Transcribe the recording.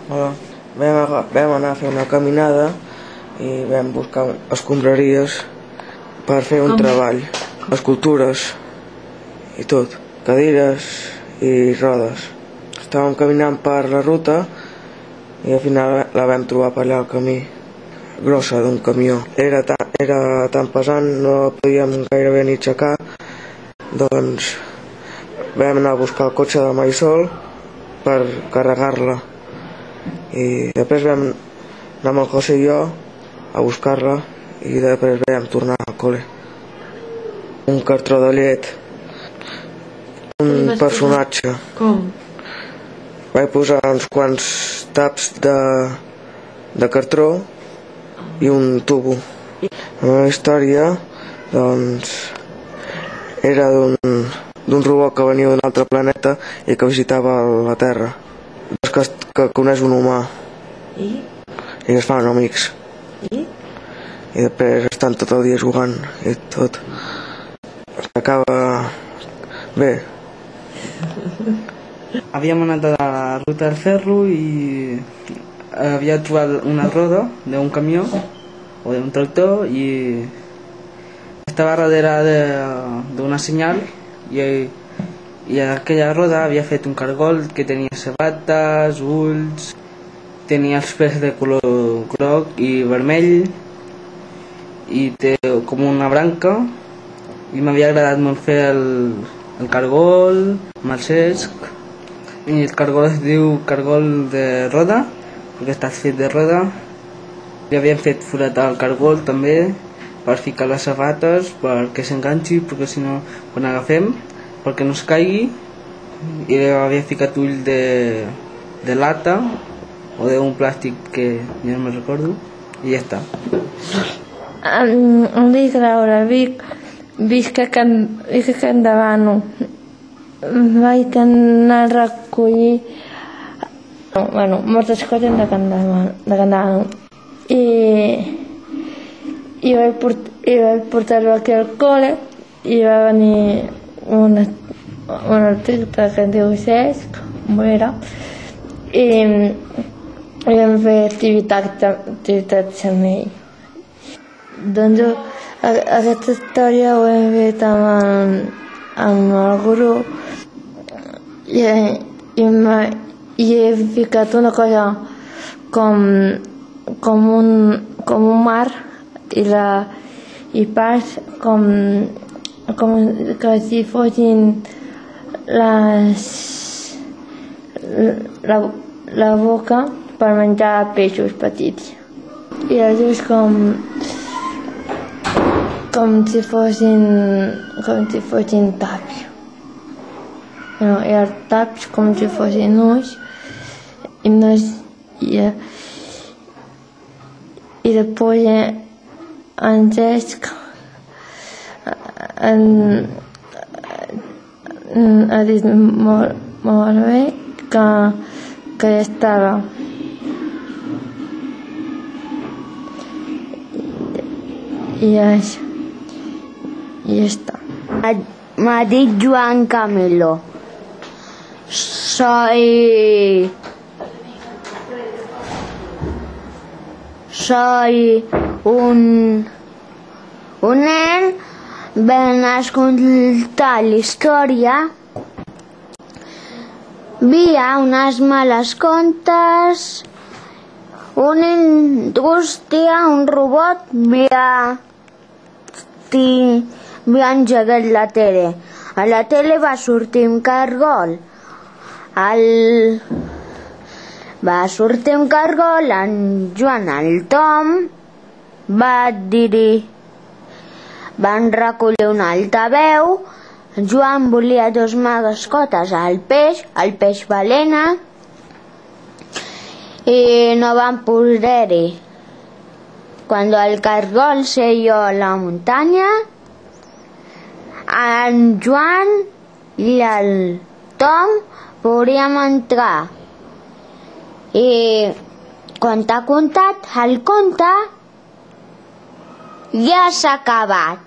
Hola. Vam anar a fer una caminada i vam buscar escombraries per fer un treball, escultures i tot, cadires i rodes. Estàvem caminant per la ruta i al final la vam trobar per allà al camí, grossa d'un camió. Era tan pesant, no la podíem gairebé ni aixecar, doncs vam anar a buscar el cotxe de Marisol per carregar-la i després vam anar amb el José i jo a buscar-la i després vam tornar al col·le. Un cartró de llet, un personatge. Com? Vaig posar uns quants taps de cartró i un tubo. La meva història, doncs, era d'un robot que venia d'un altre planeta i que visitava la Terra. Que coneix un humà. I es fan amics. I després estan tot el dia jugant i tot. Acaba bé. Havíem anat a la ruta del ferro i havia trobat una roda d'un camió o d'un tractor i estava darrere d'una senyal i aquella roda havia fet un cargol que tenia sabates, ulls, tenia els pèls de color groc i vermell i té com una branca i m'havia agradat molt fer el cargol amb el cesc i el cargol es diu cargol de roda perquè està fet de roda. Li havíem fet forat al cargol també per ficar les sabates perquè s'enganxi, perquè si no quan agafem perquè no es caigui, i li havia ficat ull de lata o d'un plàstic que ja no me'n recordo i ja està. Em dic Laura, visc a Can Davano. Vaig anar a recollir moltes coses de Can Davano i vaig portar-lo aquí al col·le i va venir un artista que es diu Cesc Morera i vam fer activitats amb ell. Doncs aquesta història ho hem fet amb el grup i he ficat una cosa com un mar i parts com que si fossin la boca per menjar peixos petits i els ulls com si fossin taps. I els taps com si fossin ulls i després en Cesc ha dit molt bé que ja estava. I això. I ja està. M'ha dit Joan Camilo. Soy un nen ven a escoltar la història. Via unes males contes, una indústria, un robot, havia engegat la tele. A la tele va sortir un cargol. Va sortir un cargol, en Joan, el Tom, va dir-hi, van recollir una altaveu, Joan volia dos mascotes, el peix balena, i no van poder-hi. Quan el cargol seió a la muntanya, en Joan i el Tom podríem entrar. I quan t'ha contat el conte, ja s'ha acabat.